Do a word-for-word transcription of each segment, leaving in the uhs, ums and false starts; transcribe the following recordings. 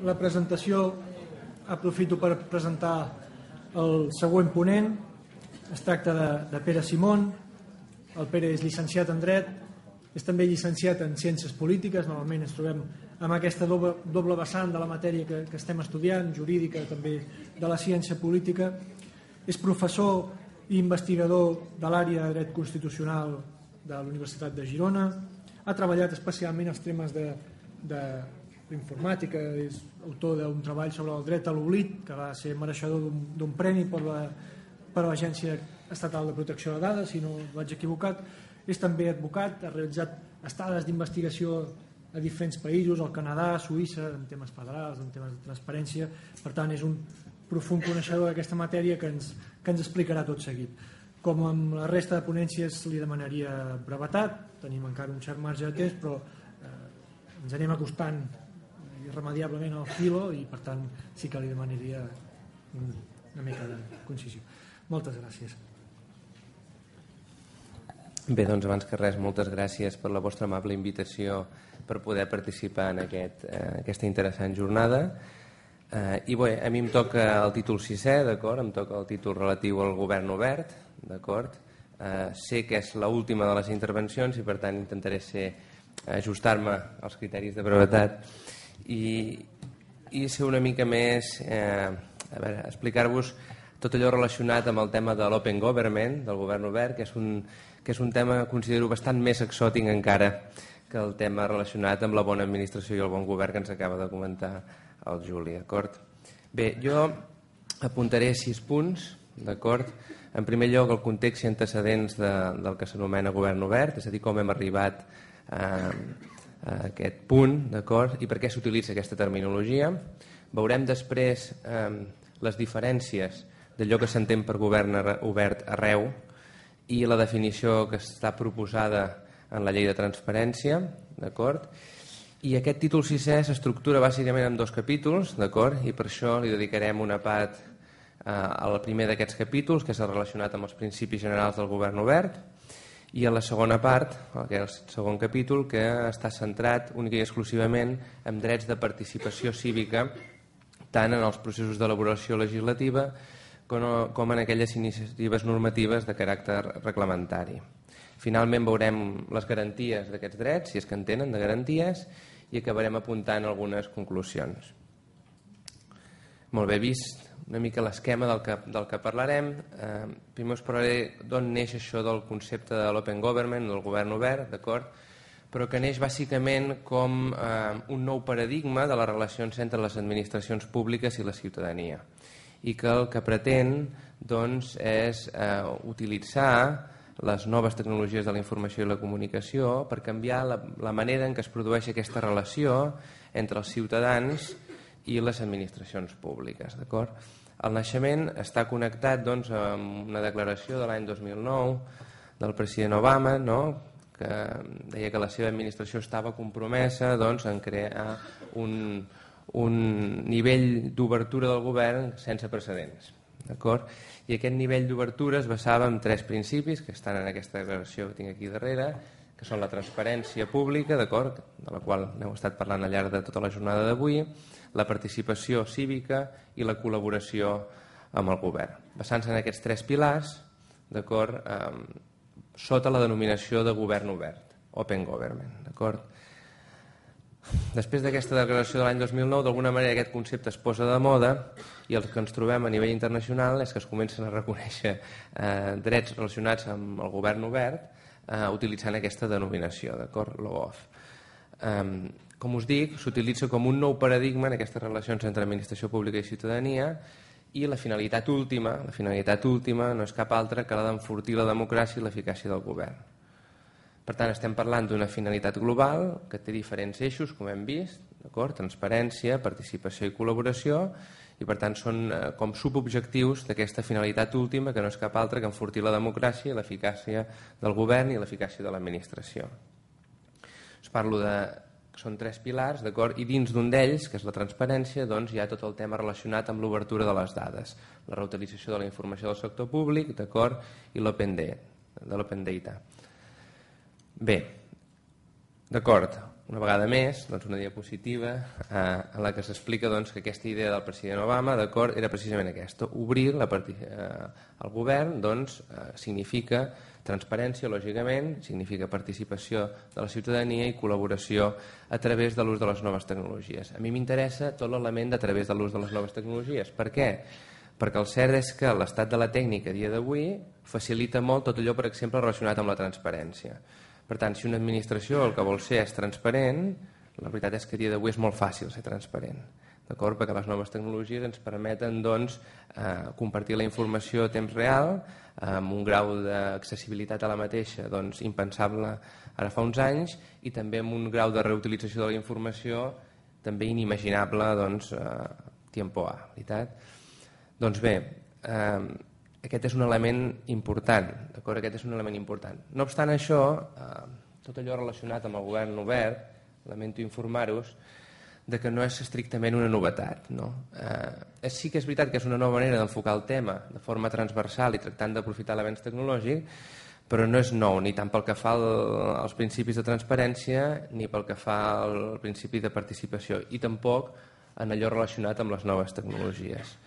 La presentació, aprofito per presentar el següent ponent. Es tracta de, de Pere Simón. El Pere és llicenciat en Dret, és també llicenciat en Ciències Polítiques. Normalment ens trobem amb aquesta doble, doble vessant de la matèria que, que estem estudiant, jurídica, també de la ciència política. És professor i investigador de l'àrea de Dret Constitucional de la Universitat de Girona. Ha treballat especialment els temes de, de l'informàtica, és autor d'un treball sobre el dret a l'oblit, que va ser mereixedor d'un premi per la per a l'Agència Estatal de Protecció de Dades, si no vaig equivocat. És també advocat, ha realitzat estades d'investigació a diferents països, al Canadà, a Suïssa, en temes federals, en temes de transparència. Per tant, és un profund coneixedor d'aquesta matèria que ens, que ens explicarà tot seguit. Com amb la resta de ponències li demanaria brevetat, tenim encara un cert marge de temps, però eh, ens anem acostant irremediablement al filo i per tant sí que li demanaria una mica de concisió. Moltes gràcies. Bé, doncs abans que res, moltes gràcies per la vostra amable invitació per poder participar en aquest, eh, aquesta interessant jornada. Eh, I bé, a mi em toca el títol sisè, d'acord? Em toca el títol relatiu al govern obert, d'acord? Eh, sé que és l'última de les intervencions i per tant intentaré ser ajustar-me als criteris de brevetat i, i ser una mica més, eh, a veure, explicar-vos tot allò relacionat amb el tema de l'open government, del govern obert, que és un, que és un tema que considero bastant més exòtic encara que el tema relacionat amb la bona administració i el bon govern que ens acaba de comentar el Juli, d'acord? Bé, jo apuntaré sis punts, d'acord? En primer lloc, el context i antecedents de, del que s'anomena govern obert, és a dir, com hem arribat a, a aquest punt, d'acord? I per què s'utilitza aquesta terminologia. Veurem després eh, les diferències d'allò que s'entén per govern obert arreu i la definició que està proposada en la llei de transparència, d'acord? I aquest títol sisè s'estructura bàsicament en dos capítols, d'acord? I per això li dedicarem una part eh, al primer d'aquests capítols, que és relacionat amb els principis generals del govern obert, i a la segona part, que és el segon capítol, que està centrat únicament i exclusivament en drets de participació cívica, tant en els processos d'elaboració legislativa com en aquelles iniciatives normatives de caràcter reglamentari. Finalment veurem les garanties d'aquests drets, si és que en tenen de garanties, i acabarem apuntant algunes conclusions. Molt bé, vist una mica l'esquema del, que, del que parlarem, eh, primer us parlaré d'on neix això del concepte de l'open government, del govern obert, d'acord? Però que neix bàsicament com eh, un nou paradigma de les relacions entre les administracions públiques i la ciutadania, i que el que pretén doncs, és eh, utilitzar les noves tecnologies de la informació i la comunicació per canviar la, la manera en què es produeix aquesta relació entre els ciutadans i les administracions públiques. D'acord? El naixement està connectat doncs, amb una declaració de l'any dos mil nou del president Obama, no?, que deia que la seva administració estava compromesa doncs, en crear un, un nivell d'obertura del govern sense precedents. D'acord? I aquest nivell d'obertura es basava en tres principis que estan en aquesta declaració que tinc aquí darrere, que són la transparència pública, d'acord, de la qual n'heu estat parlant al llarg de tota la jornada d'avui, la participació cívica i la col·laboració amb el govern. Basant-se en aquests tres pilars, d'acord, eh, sota la denominació de govern obert, open government, d'acord? Després d'aquesta declaració de l'any dos mil nou, d'alguna manera aquest concepte es posa de moda i el que ens trobem a nivell internacional és que es comencen a reconèixer eh, drets relacionats amb el govern obert eh, utilitzant aquesta denominació, d'acord? L'O A F. Eh, com us dic, s'utilitza com un nou paradigma en aquestes relacions entre administració pública i ciutadania i la finalitat última, la finalitat última no és cap altra que la d'enfortir la democràcia i l'eficàcia del govern. Per tant, estem parlant d'una finalitat global que té diferents eixos, com hem vist, d'acord? Transparència, participació i col·laboració, i per tant són eh, com subobjectius d'aquesta finalitat última que no és cap altra que enfortir la democràcia i l'eficàcia del govern i l'eficàcia de l'administració. Us parlo de són tres pilars, d'acord? I dins d'un d'ells, que és la transparència, doncs hi ha tot el tema relacionat amb l'obertura de les dades, la reutilització de la informació del sector públic, d'acord? I l'open data, de l'open data. Bé, D'acord, una vegada més, doncs una diapositiva eh, en la que s'explica doncs, que aquesta idea del president Obama d'acord era precisament aquesta, obrir la part... eh, el govern doncs, eh, significa transparència, lògicament, significa participació de la ciutadania i col·laboració a través de l'ús de les noves tecnologies. A mi m'interessa tot l'element de a través de l'ús de les noves tecnologies. Per què? Perquè el cert és que l'estat de la tècnica a dia d'avui facilita molt tot allò, per exemple, relacionat amb la transparència. Per tant, si una administració el que vol ser és transparent, la veritat és que a dia d'avui és molt fàcil ser transparent, d'acord? Perquè les noves tecnologies ens permeten doncs, eh, compartir la informació a temps real, amb un grau d'accessibilitat a la mateixa doncs, impensable ara fa uns anys, i també amb un grau de reutilització de la informació també inimaginable doncs, a tiempo A, veritat? Doncs bé, eh, aquest és un element important, d'acord? Aquest és un element important. No obstant això, eh, tot allò relacionat amb el govern obert, lamento informar-vos, de que no és estrictament una novetat. No? Eh, sí que és veritat que és una nova manera d'enfocar el tema de forma transversal i tractant d'aprofitar l'avenç tecnològic, però no és nou, ni tant pel que fa al, als principis de transparència ni pel que fa al principi de participació, i tampoc en allò relacionat amb les noves tecnologies.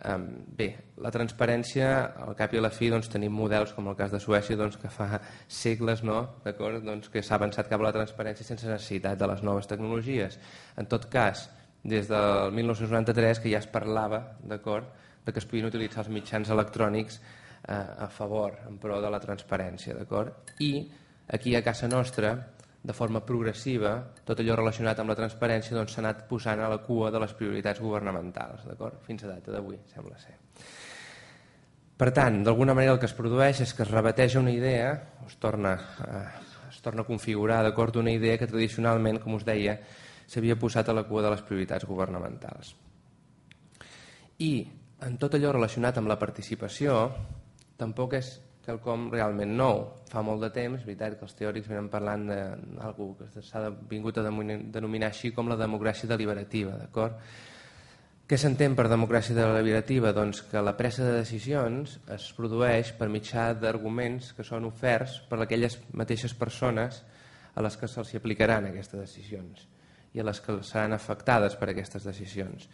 Um, bé, la transparència, al cap i a la fi doncs, tenim models com el cas de Suècia doncs, que fa segles no? doncs, que s'ha avançat cap a la transparència sense necessitat de les noves tecnologies. En tot cas, des del mil nou-cents noranta-tres que ja es parlava d'acord de que es podien utilitzar els mitjans electrònics eh, a favor, en pro de la transparència. I aquí a casa nostra, de forma progressiva, tot allò relacionat amb la transparència doncs, s'ha anat posant a la cua de les prioritats governamentals, fins a data d'avui, sembla ser. Per tant, d'alguna manera el que es produeix és que es rebateja una idea, o es torna, eh, es torna a configurar d'acord d'una idea que tradicionalment, com us deia, s'havia posat a la cua de les prioritats governamentals. I en tot allò relacionat amb la participació, tampoc és quelcom realment nou. Fa molt de temps, és veritat que els teòrics venen parlant d'algú que s'ha vingut a denominar així com la democràcia deliberativa, d'acord? Què s'entén per democràcia deliberativa? Doncs que la presa de decisions es produeix per mitjà d'arguments que són oferts per aquelles mateixes persones a les que se'ls aplicaran aquestes decisions i a les que seran afectades per aquestes decisions.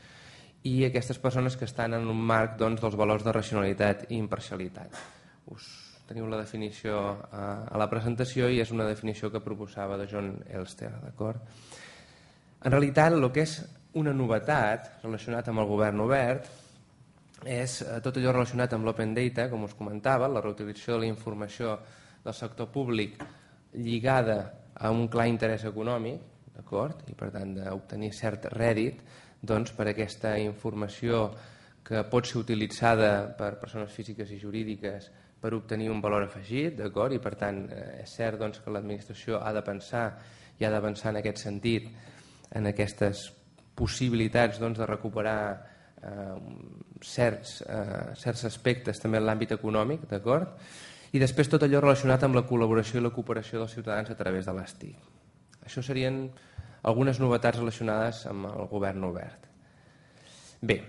I aquestes persones que estan en un marc doncs, dels valors de racionalitat i imparcialitat. Us teniu la definició a la presentació i és una definició que proposava de John Elster, d'acord? En realitat, el que és una novetat relacionat amb el govern obert és tot allò relacionat amb l'open data, com us comentava, la reutilització de la informació del sector públic lligada a un clar interès econòmic, d'acord? I per tant d'obtenir cert rèdit doncs, per aquesta informació que pot ser utilitzada per persones físiques i jurídiques per obtenir un valor afegit, d'acord? I per tant és cert doncs, que l'administració ha de pensar i ha d'avançar en aquest sentit, en aquestes possibilitats doncs, de recuperar eh, certs, eh, certs aspectes també en l'àmbit econòmic, d'acord? I després tot allò relacionat amb la col·laboració i la cooperació dels ciutadans a través de les T I C. Això serien algunes novetats relacionades amb el govern obert. Bé,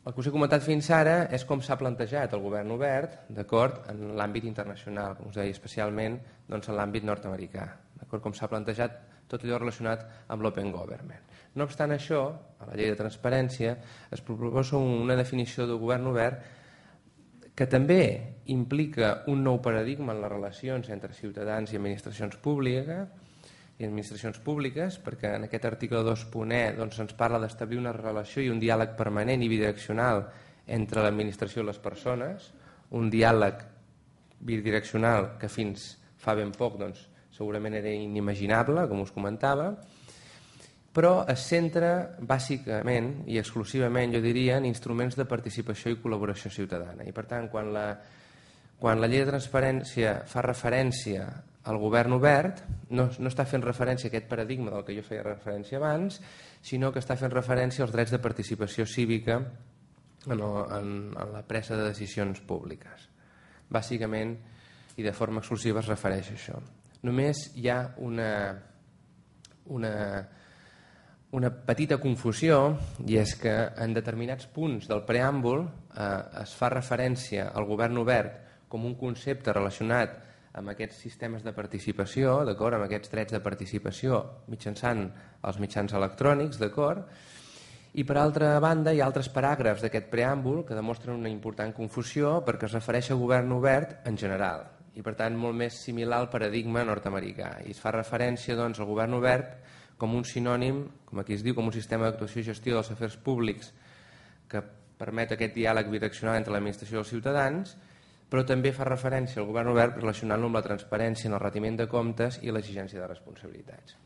el que us he comentat fins ara és com s'ha plantejat el govern obert d'acord en l'àmbit internacional, com us deia, especialment doncs, en l'àmbit nord-americà, d'acord com s'ha plantejat tot allò relacionat amb l'open government. No obstant això, a la llei de transparència es proposa una definició de govern obert que també implica un nou paradigma en les relacions entre ciutadans i administracions públiques, i administracions públiques, perquè en aquest article dos punt e doncs, ens parla d'establir una relació i un diàleg permanent i bidireccional entre l'administració i les persones, un diàleg bidireccional que fins fa ben poc doncs, segurament era inimaginable, com us comentava, però es centra bàsicament i exclusivament, jo diria, en instruments de participació i col·laboració ciutadana. I per tant, quan la, quan la llei de transparència fa referència el govern obert no, no està fent referència a aquest paradigma del que jo feia referència abans, sinó que està fent referència als drets de participació cívica en, en, en la presa de decisions públiques. Bàsicament, i de forma exclusiva, es refereix a això. Només hi ha una, una, una petita confusió, i és que en determinats punts del preàmbul eh, es fa referència al govern obert com un concepte relacionat amb aquests sistemes de participació, d'acord, amb aquests drets de participació mitjançant els mitjans electrònics, d'acord. I per altra banda hi ha altres paràgrafs d'aquest preàmbul que demostren una important confusió perquè es refereix a govern obert en general i per tant molt més similar al paradigma nord-americà i es fa referència doncs, al govern obert com un sinònim, com aquí es diu, com un sistema d'actuació i gestió dels afers públics que permet aquest diàleg bidireccional entre l'administració i els ciutadans, però també fa referència al govern obert relacionant-lo amb la transparència en el retiment de comptes i l'exigència de responsabilitats.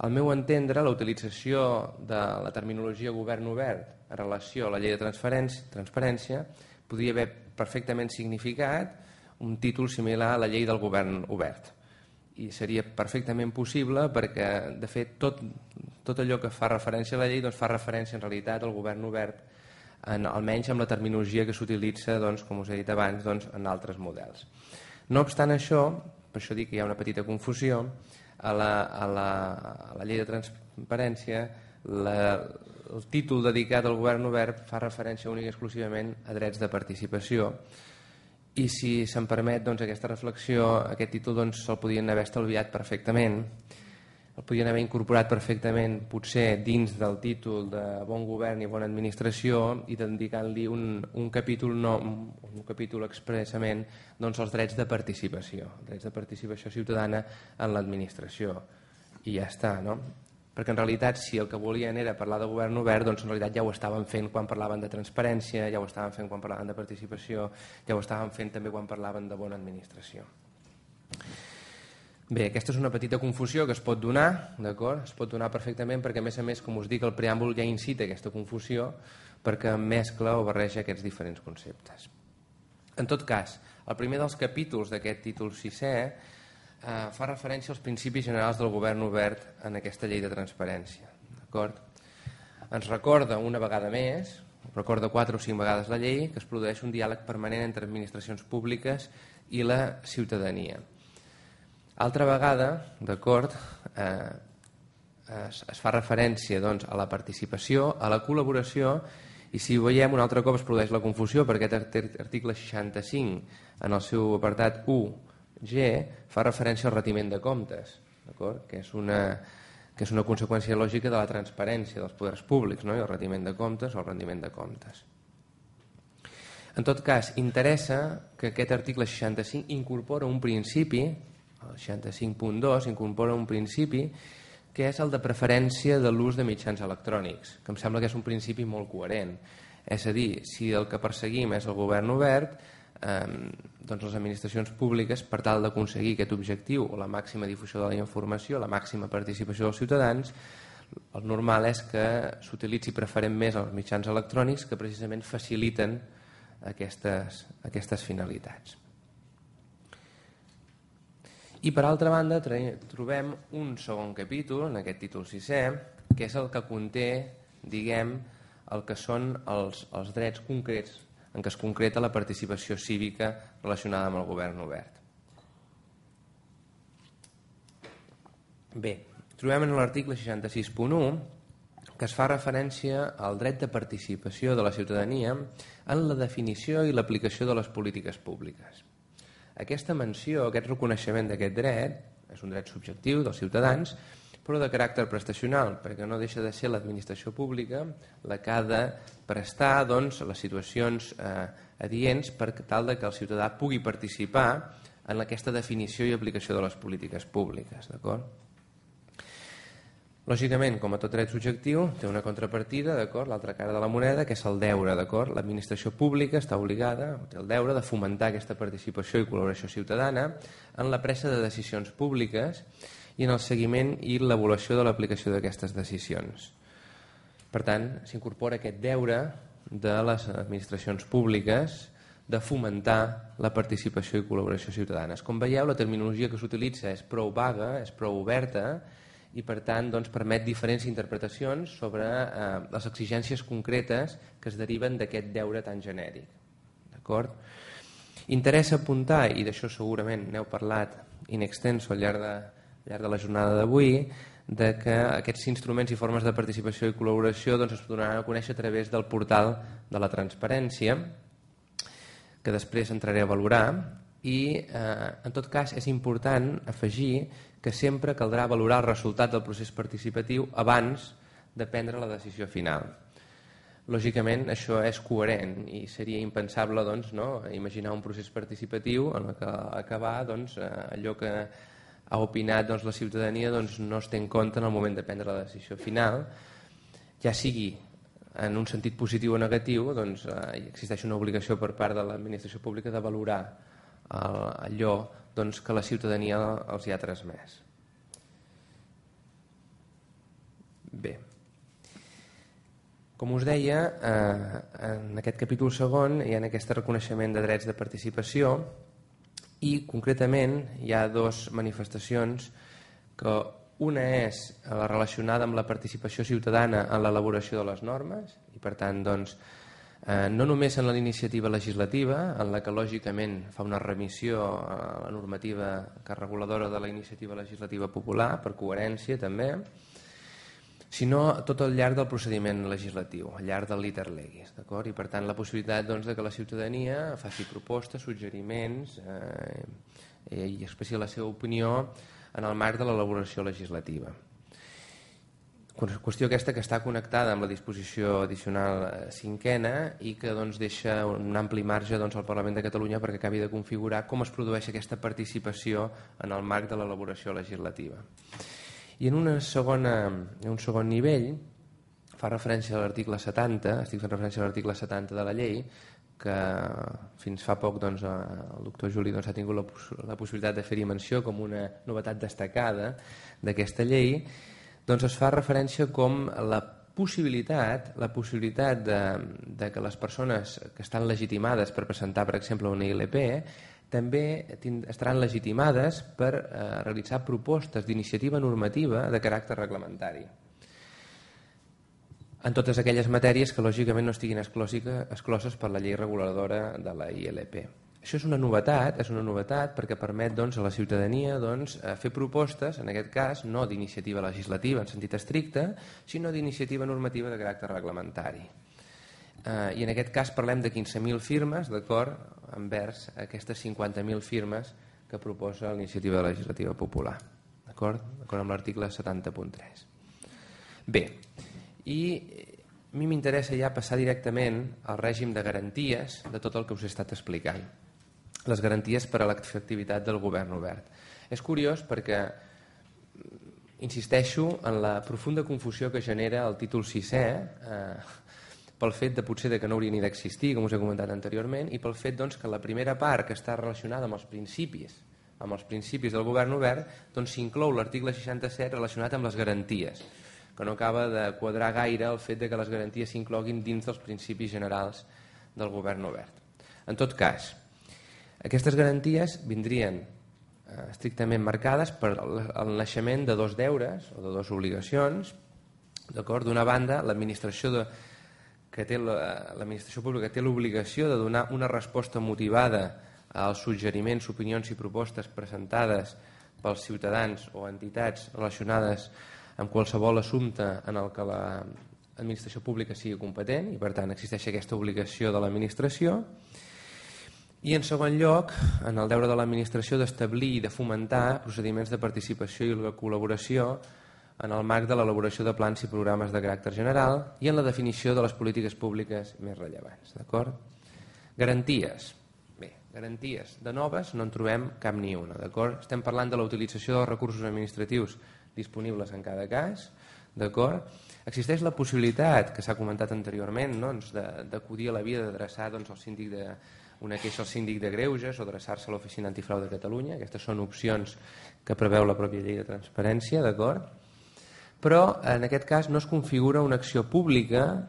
Al meu entendre, la utilització de la terminologia govern obert en relació a la llei de transparència podria haver perfectament significat un títol similar a la llei del govern obert. I seria perfectament possible perquè, de fet, tot, tot allò que fa referència a la llei doncs, fa referència en realitat al govern obert, en, almenys amb la terminologia que s'utilitza, doncs, com us he dit abans, doncs, en altres models. No obstant això, per això dic que hi ha una petita confusió, a la, a la, a la llei de transparència la, el títol dedicat al govern obert fa referència única i exclusivament a drets de participació i si se'm permet doncs, aquesta reflexió, aquest títol doncs, se'l podien haver estalviat perfectament, el podien haver incorporat perfectament potser dins del títol de bon govern i bona administració i dedicant-li un, un capítol no, un capítol expressament doncs, als drets de participació, drets de participació ciutadana en l'administració i ja està, no? Perquè en realitat si el que volien era parlar de govern obert doncs en realitat ja ho estaven fent quan parlaven de transparència, ja ho estaven fent quan parlaven de participació, ja ho estaven fent també quan parlaven de bona administració. Bé, aquesta és una petita confusió que es pot donar, d'acord? Es pot donar perfectament perquè, a més a més, com us dic, el preàmbul ja incita aquesta confusió perquè mescla o barreja aquests diferents conceptes. En tot cas, el primer dels capítols d'aquest títol sisè eh, fa referència als principis generals del govern obert en aquesta llei de transparència, d'acord? Ens recorda una vegada més, recorda quatre o cinc vegades la llei, que es produeix un diàleg permanent entre administracions públiques i la ciutadania. Altra vegada, d'acord, eh, es, es fa referència doncs, a la participació, a la col·laboració i si ho veiem un altre cop es produeix la confusió perquè aquest article seixanta-cinc en el seu apartat u ge fa referència al retiment de comptes, d'acord? Que és una, que és una conseqüència lògica de la transparència dels poders públics, no? I el retiment de comptes o el rendiment de comptes. En tot cas, interessa que aquest article seixanta-cinc incorpora un principi, el seixanta-cinc punt dos incorpora un principi que és el de preferència de l'ús de mitjans electrònics, que em sembla que és un principi molt coherent. És a dir, si el que perseguim és el govern obert, eh, doncs les administracions públiques, per tal d'aconseguir aquest objectiu o la màxima difusió de la informació, la màxima participació dels ciutadans, el normal és que s'utilitzi preferent més els mitjans electrònics que precisament faciliten aquestes, aquestes finalitats. I per altra banda trobem un segon capítol en aquest títol sisè que és el que conté, diguem, el que són els, els drets concrets en què es concreta la participació cívica relacionada amb el govern obert. Bé, trobem en l'article seixanta-sis punt u que es fa referència al dret de participació de la ciutadania en la definició i l'aplicació de les polítiques públiques. Aquesta menció, aquest reconeixement d'aquest dret, és un dret subjectiu dels ciutadans, però de caràcter prestacional, perquè no deixa de ser l'administració pública la que ha de prestar doncs, les situacions eh, adients per tal de que el ciutadà pugui participar en aquesta definició i aplicació de les polítiques públiques, d'acord? Lògicament, com a tot dret subjectiu, té una contrapartida, d'acord, l'altra cara de la moneda, que és el deure, d'acord? L'administració pública està obligada, té el deure de fomentar aquesta participació i col·laboració ciutadana en la presa de decisions públiques i en el seguiment i l'avaluació de l'aplicació d'aquestes decisions. Per tant, s'incorpora aquest deure de les administracions públiques de fomentar la participació i col·laboració ciutadanes. Com veieu, la terminologia que s'utilitza és prou vaga, és prou oberta, i per tant doncs, permet diferents interpretacions sobre eh, les exigències concretes que es deriven d'aquest deure tan genèric. D'acord? Interessa apuntar, i d'això segurament n'heu parlat in extenso al llarg de, al llarg de la jornada d'avui, de que aquests instruments i formes de participació i col·laboració doncs, es donaran a conèixer a través del portal de la transparència, que després entraré a valorar, i eh, en tot cas és important afegir que sempre caldrà valorar el resultat del procés participatiu abans de prendre la decisió final. Lògicament això és coherent i seria impensable doncs, no, imaginar un procés participatiu en el que acabar doncs, allò que ha opinat doncs, la ciutadania doncs, no es té en compte en el moment de prendre la decisió final, ja sigui en un sentit positiu o negatiu, doncs, eh, existeix una obligació per part de l'administració pública de valorar el, allò doncs, que la ciutadania els hi ha transmès. Bé, com us deia, eh, en aquest capítol segon hi ha aquest reconeixement de drets de participació i concretament hi ha dues manifestacions que una és la relacionada amb la participació ciutadana en l'elaboració de les normes i per tant doncs, eh, no només en la iniciativa legislativa en la que lògicament fa una remissió a la normativa que és reguladora de la iniciativa legislativa popular per coherència també, sinó tot al llarg del procediment legislatiu, al llarg del liter legis, d'acord? I per tant la possibilitat doncs, de que la ciutadania faci propostes, suggeriments eh, i expressi la seva opinió en el marc de l'elaboració legislativa. Qüestió aquesta que està connectada amb la disposició addicional cinquena i que doncs, deixa un ampli marge doncs, al Parlament de Catalunya perquè acabi de configurar com es produeix aquesta participació en el marc de l'elaboració legislativa. I en, una segona, en un segon nivell fa referència a l'article setanta, estic fent referència a l'article setanta de la llei, que fins fa poc doncs, el doctor Juli doncs, ha tingut la, la possibilitat de fer-hi menció com una novetat destacada d'aquesta llei, doncs es fa referència com la possibilitat, la possibilitat de, de que les persones que estan legitimades per presentar, per exemple, una I L P, també estaran legitimades per eh, realitzar propostes d'iniciativa normativa de caràcter reglamentari en totes aquelles matèries que lògicament no estiguin excloses per la llei reguladora de la I L P. Això és una novetat, és una novetat perquè permet doncs, a la ciutadania doncs, fer propostes, en aquest cas no d'iniciativa legislativa en sentit estricte, sinó d'iniciativa normativa de caràcter reglamentari. Uh, i en aquest cas parlem de quinze mil firmes d'acord envers aquestes cinquanta mil firmes que proposa l'iniciativa legislativa popular d'acord amb l'article setanta punt tres. Bé, i a mi m'interessa ja passar directament al règim de garanties de tot el que us he estat explicant, les garanties per a l'efectivitat del govern obert. És curiós perquè insisteixo en la profunda confusió que genera el títol sisè eh, pel fet de potser de que no hauria ni d'existir, com us he comentat anteriorment, i pel fet doncs, que la primera part que està relacionada amb els principis, amb els principis del govern obert, doncs s'inclou l'article seixanta-set relacionat amb les garanties, que no acaba de quadrar gaire el fet de que les garanties s'incloguin dins dels principis generals del govern obert. En tot cas, aquestes garanties vindrien eh, estrictament marcades per el naixement de dos deures o de dues obligacions. D'una banda, l'administració de que té l'administració pública té l'obligació de donar una resposta motivada als suggeriments, opinions i propostes presentades pels ciutadans o entitats relacionades amb qualsevol assumpte en el que l'administració pública sigui competent i per tant existeix aquesta obligació de l'administració. I en segon lloc, en el deure de l'administració d'establir i de fomentar procediments de participació i de col·laboració en el marc de l'elaboració de plans i programes de caràcter general i en la definició de les polítiques públiques més rellevants. D'acord? Garanties. Bé, garanties de noves no en trobem cap ni una. D'acord? Estem parlant de la utilització dels recursos administratius disponibles en cada cas. D'acord? Existeix la possibilitat, que s'ha comentat anteriorment, no? d'acudir a la via d'adreçar doncs, el síndic de una queixa al síndic de greuges o adreçar-se a l'Oficina Antifrau de Catalunya. Aquestes són opcions que preveu la pròpia llei de transparència, d'acord? Però en aquest cas no es configura una acció pública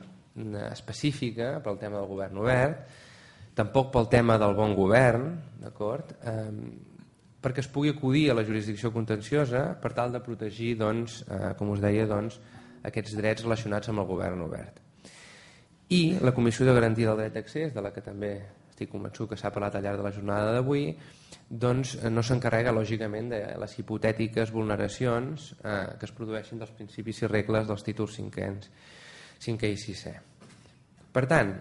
específica pel tema del govern obert, tampoc pel tema del bon govern, d'acord? Eh, perquè es pugui acudir a la jurisdicció contenciosa per tal de protegir, doncs, eh, com us deia, doncs, aquests drets relacionats amb el govern obert. I la Comissió de Garantia del Dret d'Accés, de la que també estic convençut que s'ha parlat al llarg de la jornada d'avui, doncs no s'encarrega lògicament de les hipotètiques vulneracions eh, que es produeixen dels principis i regles dels títols cinquens, cinquè i sisè. Per tant,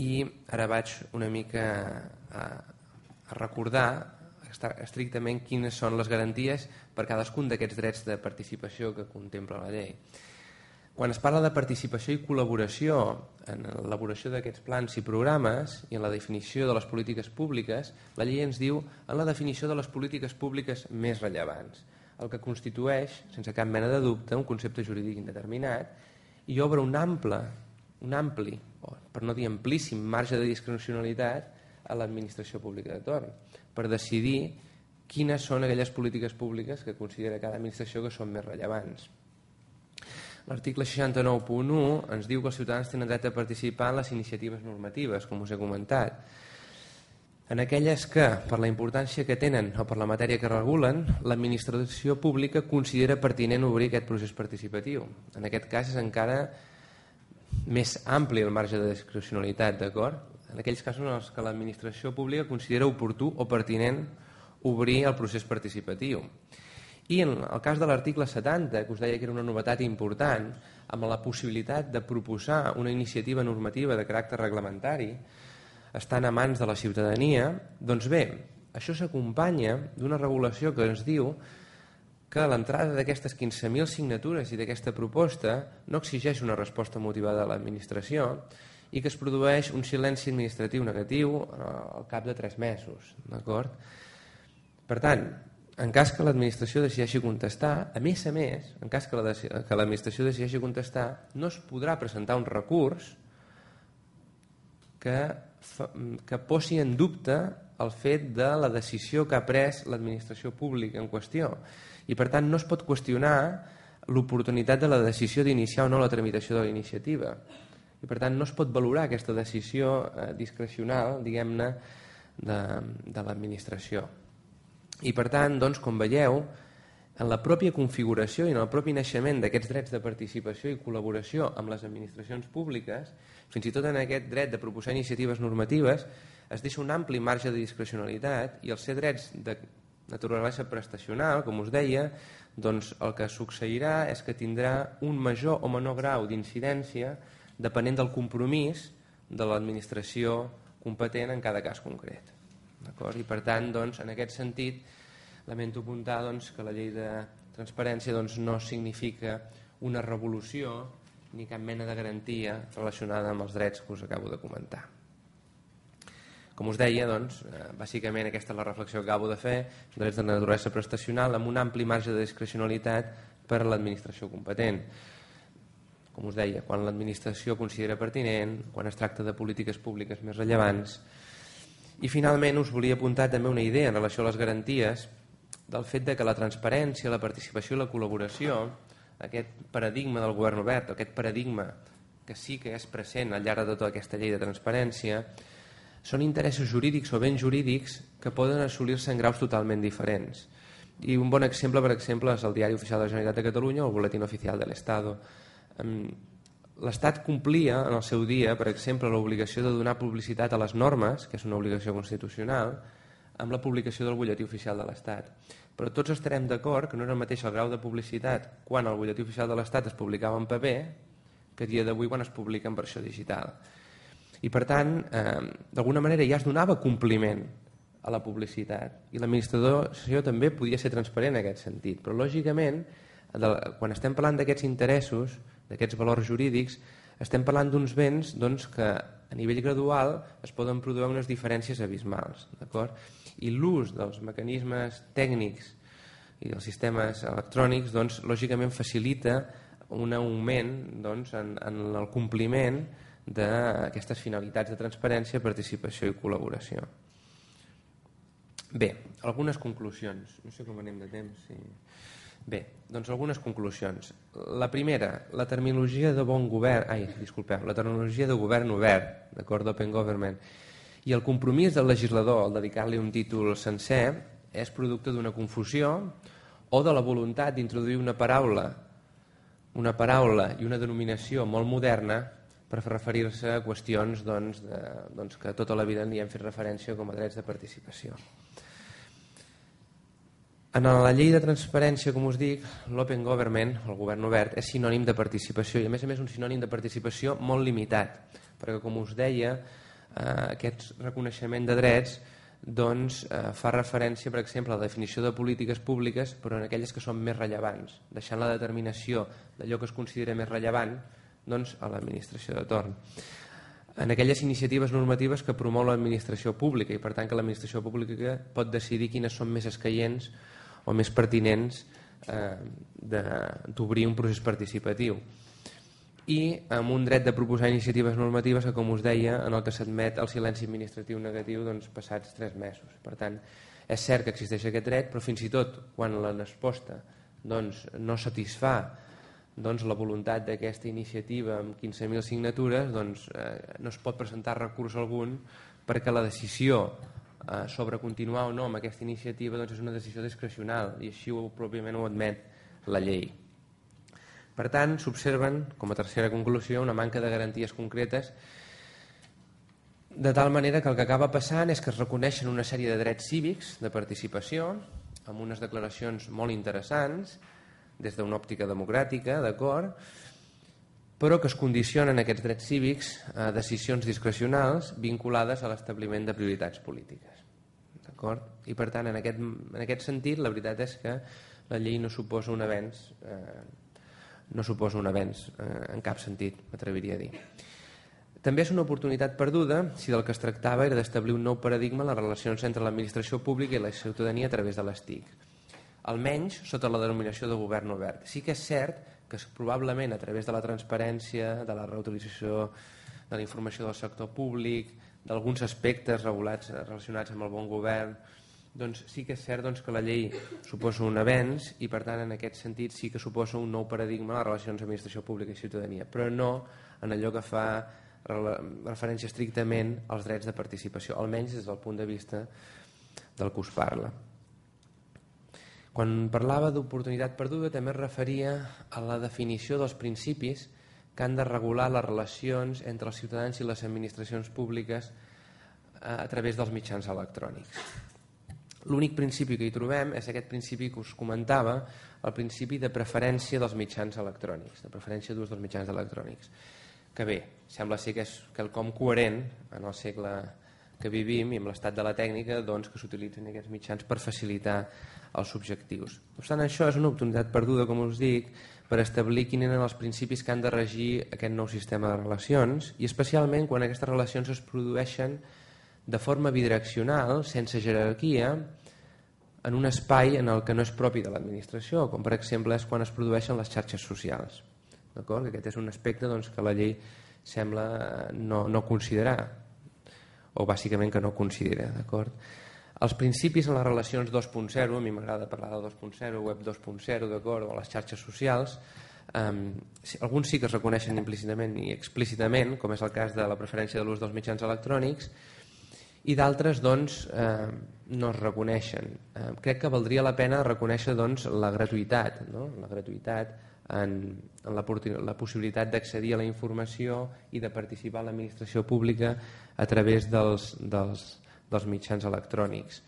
i ara vaig una mica a, a recordar estrictament quines són les garanties per cadascun d'aquests drets de participació que contempla la llei. Quan es parla de participació i col·laboració en l'elaboració d'aquests plans i programes i en la definició de les polítiques públiques, la llei ens diu en la definició de les polítiques públiques més rellevants, el que constitueix, sense cap mena de dubte, un concepte jurídic indeterminat i obre un ample, un ampli, per no dir amplíssim, marge de discrecionalitat a l'administració pública de torn, per decidir quines són aquelles polítiques públiques que considera cada administració que són més rellevants. L'article seixanta-nou punt u ens diu que els ciutadans tenen dret a participar en les iniciatives normatives, com us he comentat. En aquelles que, per la importància que tenen o per la matèria que regulen, l'administració pública considera pertinent obrir aquest procés participatiu. En aquest cas és encara més ampli el marge de discrecionalitat, d'acord? En aquells casos en els que l'administració pública considera oportú o pertinent obrir el procés participatiu. I en el cas de l'article setanta, que us deia que era una novetat important, amb la possibilitat de proposar una iniciativa normativa de caràcter reglamentari, estant a mans de la ciutadania, doncs bé, això s'acompanya d'una regulació que ens diu que l'entrada d'aquestes quinze mil signatures i d'aquesta proposta no exigeix una resposta motivada de l'administració i que es produeix un silenci administratiu negatiu al cap de tres mesos. D'acord? Per tant, en cas que l'administració decideixi contestar, a més a més, en cas que l'administració decideixi contestar, no es podrà presentar un recurs que, que posi en dubte el fet de la decisió que ha pres l'administració pública en qüestió. I per tant no es pot qüestionar l'oportunitat de la decisió d'iniciar o no la tramitació de la iniciativa. I per tant no es pot valorar aquesta decisió discrecional, diguem-ne, de, de l'administració. I per tant, doncs, com veieu, en la pròpia configuració i en el propi naixement d'aquests drets de participació i col·laboració amb les administracions públiques, fins i tot en aquest dret de proposar iniciatives normatives, es deixa un ampli marge de discrecionalitat i els ser drets de naturalesa prestacional, com us deia, doncs el que succeirà és que tindrà un major o menor grau d'incidència depenent del compromís de l'administració competent en cada cas concret. I per tant, doncs, en aquest sentit, lamento apuntar doncs, que la llei de transparència doncs, no significa una revolució ni cap mena de garantia relacionada amb els drets que us acabo de comentar. Com us deia, doncs, bàsicament aquesta és la reflexió que acabo de fer, drets de naturalesa prestacional amb un ampli marge de discrecionalitat per a l'administració competent. Com us deia, quan l'administració considera pertinent, quan es tracta de polítiques públiques més rellevants. I finalment us volia apuntar també una idea en relació a les garanties del fet de que la transparència, la participació i la col·laboració, aquest paradigma del govern obert, aquest paradigma que sí que és present al llarg de tota aquesta llei de transparència, són interessos jurídics o béns jurídics que poden assolir-se en graus totalment diferents. I un bon exemple, per exemple, és el Diari Oficial de la Generalitat de Catalunya o el Boletín Oficial de l'Estado. L'Estat complia en el seu dia, per exemple, l'obligació de donar publicitat a les normes, que és una obligació constitucional, amb la publicació del butlletí oficial de l'Estat. Però tots estarem d'acord que no era el mateix el grau de publicitat quan el butlletí oficial de l'Estat es publicava en paper que a dia d'avui quan es publica en versió digital. I per tant, eh, d'alguna manera ja es donava compliment a la publicitat i l'administració també podia ser transparent en aquest sentit. Però lògicament, quan estem parlant d'aquests interessos, d'aquests valors jurídics, estem parlant d'uns béns doncs, que a nivell gradual es poden produir unes diferències abismals. I l'ús dels mecanismes tècnics i dels sistemes electrònics doncs, lògicament facilita un augment doncs, en, en el compliment d'aquestes finalitats de transparència, participació i col·laboració. Bé, algunes conclusions. No sé com anem de temps. Sí. Bé, doncs algunes conclusions. La primera, la terminologia de bon govern, ai, disculpeu, la terminologia de govern obert, d'acord, d'open government, i el compromís del legislador al dedicar-li un títol sencer és producte d'una confusió o de la voluntat d'introduir una paraula, una paraula i una denominació molt moderna per referir-se a qüestions doncs, de, doncs, que tota la vida n'hi hem fet referència com a drets de participació. En la llei de transparència, com us dic, l'open government, el govern obert, és sinònim de participació i a més a més un sinònim de participació molt limitat, perquè com us deia, eh, aquest reconeixement de drets doncs, eh, fa referència, per exemple, a la definició de polítiques públiques, però en aquelles que són més rellevants, deixant la determinació d'allò que es considera més rellevant doncs, a l'administració de torn. En aquelles iniciatives normatives que promou l'administració pública i per tant que l'administració pública pot decidir quines són més escaients o més pertinents eh, d'obrir un procés participatiu. I amb un dret de proposar iniciatives normatives que, com us deia, en el que s'admet el silenci administratiu negatiu doncs, passats tres mesos. Per tant, és cert que existeix aquest dret, però fins i tot quan la resposta doncs, no satisfà doncs, la voluntat d'aquesta iniciativa amb quinze mil signatures, doncs, eh, no es pot presentar recurs algun perquè la decisió eh, sobre continuar o no amb aquesta iniciativa doncs, és una decisió discrecional i així ho, pròpiament ho admet la llei. Per tant, s'observen, com a tercera conclusió, una manca de garanties concretes, de tal manera que el que acaba passant és que es reconeixen una sèrie de drets cívics de participació, amb unes declaracions molt interessants, des d'una òptica democràtica, d'acord, però que es condicionen aquests drets cívics a decisions discrecionals vinculades a l'establiment de prioritats polítiques. D'acord? I per tant, en aquest, en aquest sentit, la veritat és que la llei no suposa un avenç, eh, no suposa un avenç eh, en cap sentit, m'atreviria a dir. També és una oportunitat perduda si del que es tractava era d'establir un nou paradigma en les relacions entre l'administració pública i la ciutadania a través de les T I C. Almenys sota la denominació de govern obert. Sí que és cert que probablement a través de la transparència, de la reutilització de la informació del sector públic, d'alguns aspectes regulats relacionats amb el bon govern, doncs sí que és cert doncs, que la llei suposa un avenç i per tant en aquest sentit sí que suposa un nou paradigma en les relacions administració pública i ciutadania, però no en allò que fa referència estrictament als drets de participació, almenys des del punt de vista del que us parla. Quan parlava d'oportunitat perduda també es referia a la definició dels principis que han de regular les relacions entre els ciutadans i les administracions públiques a través dels mitjans electrònics. L'únic principi que hi trobem és aquest principi que us comentava, el principi de preferència dels mitjans electrònics, de preferència d'ús dels mitjans electrònics. Que bé, sembla ser que és quelcom coherent en el segle que vivim i amb l'estat de la tècnica doncs, que s'utilitzen aquests mitjans per facilitar els objectius. No obstant això, és una oportunitat perduda, com us dic, per establir quins eren els principis que han de regir aquest nou sistema de relacions i especialment quan aquestes relacions es produeixen de forma bidireccional, sense jerarquia, en un espai en el que no és propi de l'administració, com per exemple és quan es produeixen les xarxes socials. D'acord? Aquest és un aspecte doncs, que la llei sembla no, no considerar, o bàsicament que no considera. D'acord? Els principis en les relacions dos punt zero, a mi m'agrada parlar de dos punt zero, web dos punt zero, d'acord, o les xarxes socials, um, alguns sí que es reconeixen implícitament i explícitament, com és el cas de la preferència de l'ús dels mitjans electrònics, i d'altres doncs, eh, no es reconeixen. Eh, crec que valdria la pena reconèixer doncs, la gratuïtat, no? la gratuïtat en, en la, la possibilitat d'accedir a la informació i de participar en l'administració pública a través dels, dels, dels mitjans electrònics.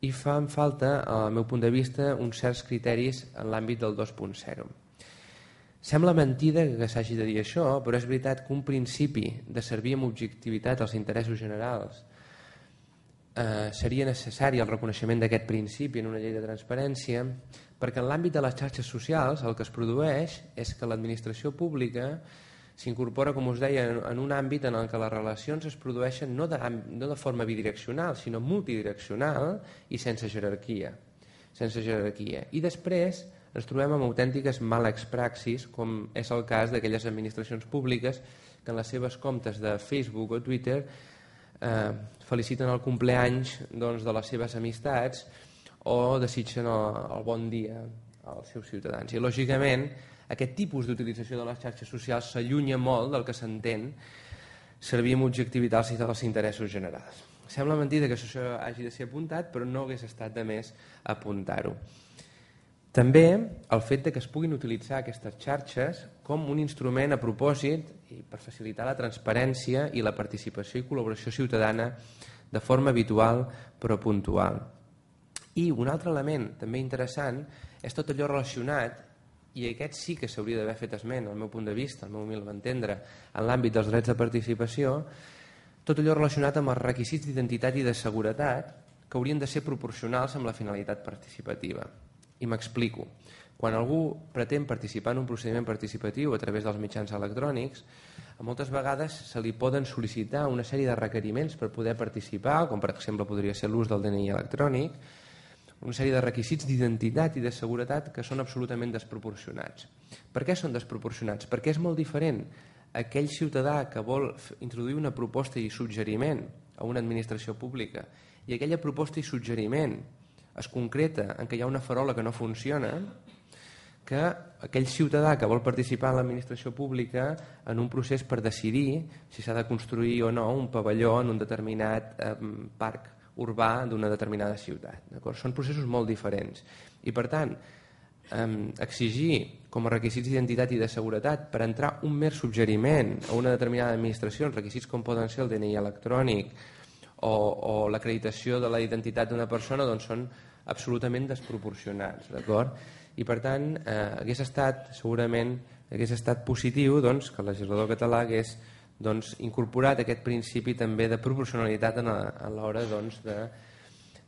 I fan falta, al meu punt de vista, uns certs criteris en l'àmbit del dos punt zero. Sembla mentida que s'hagi de dir això, però és veritat que un principi de servir amb objectivitat als interessos generals eh, seria necessari el reconeixement d'aquest principi en una llei de transparència, perquè en l'àmbit de les xarxes socials el que es produeix és que l'administració pública s'incorpora, com us deia, en un àmbit en el què les relacions es produeixen no de, no de forma bidireccional, sinó multidireccional i sense jerarquia. Sense jerarquia. I després ens trobem amb autèntiques males praxis, com és el cas d'aquelles administracions públiques que en les seves comptes de Facebook o Twitter eh, feliciten el compleanys doncs, de les seves amistats o desitgen el, el bon dia als seus ciutadans. I lògicament aquest tipus d'utilització de les xarxes socials s'allunya molt del que s'entén servir amb objectivitat als interessos generals. Sembla mentida que això hagi de ser apuntat, però no hagués estat de més apuntar-ho. També el fet de que es puguin utilitzar aquestes xarxes com un instrument a propòsit i per facilitar la transparència i la participació i col·laboració ciutadana de forma habitual però puntual. I un altre element també interessant és tot allò relacionat, i aquest sí que s'hauria d'haver fet esment, al meu punt de vista, al meu humil entendre, en l'àmbit dels drets de participació, tot allò relacionat amb els requisits d'identitat i de seguretat que haurien de ser proporcionals amb la finalitat participativa. I m'explico. Quan algú pretén participar en un procediment participatiu a través dels mitjans electrònics, moltes vegades se li poden sol·licitar una sèrie de requeriments per poder participar, com per exemple podria ser l'ús del D N I electrònic, una sèrie de requisits d'identitat i de seguretat que són absolutament desproporcionats. Per què són desproporcionats? Perquè és molt diferent aquell ciutadà que vol introduir una proposta i suggeriment a una administració pública i aquella proposta i suggeriment es concreta en què hi ha una farola que no funciona, que aquell ciutadà que vol participar en l'administració pública en un procés per decidir si s'ha de construir o no un pavelló en un determinat eh, parc urbà d'una determinada ciutat. Són processos molt diferents. I per tant, eh, exigir com a requisits d'identitat i de seguretat per entrar un mer suggeriment a una determinada administració, requisits com poden ser el D N I electrònic o, o l'acreditació de la identitat d'una persona, doncs són absolutament desproporcionats, d'acord? I per tant, eh, hagués estat segurament hagués estat positiu doncs, que el legislador català hagués doncs, incorporat aquest principi també de proporcionalitat a l'hora doncs,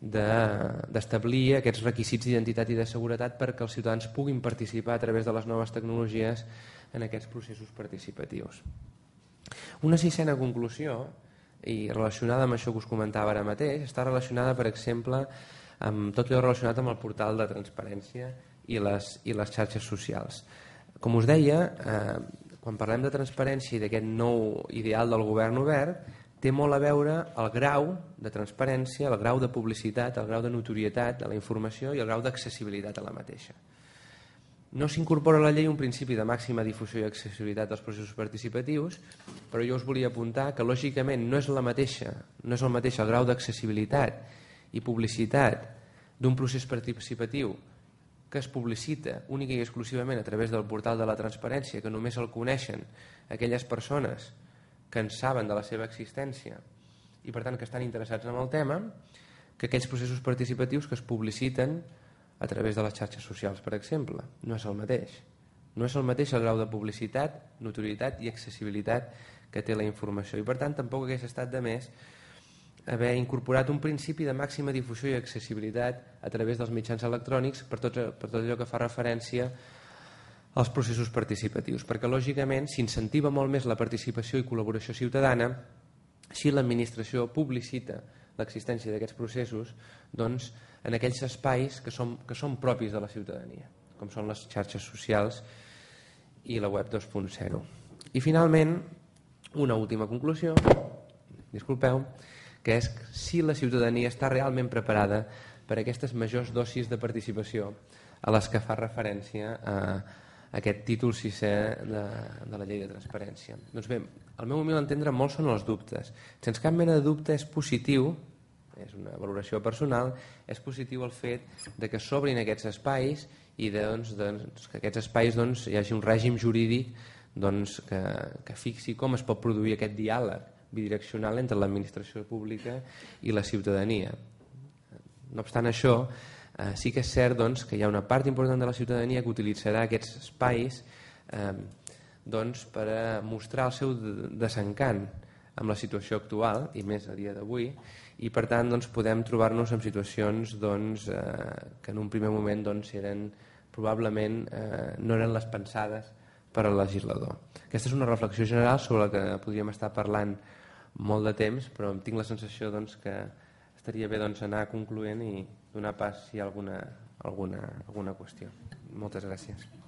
d'establir de, de, aquests requisits d'identitat i de seguretat perquè els ciutadans puguin participar a través de les noves tecnologies en aquests processos participatius. Una sisena conclusió, i relacionada amb això que us comentava ara mateix, està relacionada, per exemple, amb tot allò relacionat amb el portal de transparència i les, i les xarxes socials. Com us deia, eh, quan parlem de transparència i d'aquest nou ideal del govern obert, té molt a veure el grau de transparència, el grau de publicitat, el grau de notorietat de la informació i el grau d'accessibilitat a la mateixa. No s'incorpora a la llei un principi de màxima difusió i accessibilitat dels processos participatius, però jo us volia apuntar que lògicament no és la mateixa, no és el mateix el grau d'accessibilitat i publicitat d'un procés participatiu que es publicita única i exclusivament a través del portal de la transparència, que només el coneixen aquelles persones que en saben de la seva existència i per tant que estan interessats en el tema, que aquells processos participatius que es publiciten a través de les xarxes socials, per exemple. No és el mateix. No és el mateix el grau de publicitat, notorietat i accessibilitat que té la informació i per tant tampoc hagués estat de més haver incorporat un principi de màxima difusió i accessibilitat a través dels mitjans electrònics per tot, per tot allò que fa referència als processos participatius, perquè lògicament s'incentiva molt més la participació i col·laboració ciutadana si l'administració publicita l'existència d'aquests processos doncs, en aquells espais que són, que són propis de la ciutadania, com són les xarxes socials i la web dos punt zero. I finalment, una última conclusió, disculpeu, que és si la ciutadania està realment preparada per aquestes majors dosis de participació a les que fa referència a aquest títol sisè de, de la llei de transparència. Doncs bé, al meu humil entendre molts són els dubtes. Sense cap mena de dubte és positiu, és una valoració personal, és positiu el fet de que s'obrin aquests espais i doncs, doncs, que aquests espais doncs, hi hagi un règim jurídic doncs, que, que fixi com es pot produir aquest diàleg bidireccional entre l'administració pública i la ciutadania. No obstant això, eh, sí que és cert doncs, que hi ha una part important de la ciutadania que utilitzarà aquests espais eh, doncs, per a mostrar el seu desencant amb la situació actual, i més a dia d'avui, i per tant doncs, podem trobar-nos en situacions doncs, eh, que en un primer moment doncs, eren, probablement eh, no eren les pensades per al legislador. Aquesta és una reflexió general sobre la que podríem estar parlant molt de temps, però tinc la sensació doncs, que estaria bé doncs, anar concloent i donar pas si hi ha alguna, alguna, alguna qüestió. Moltes gràcies.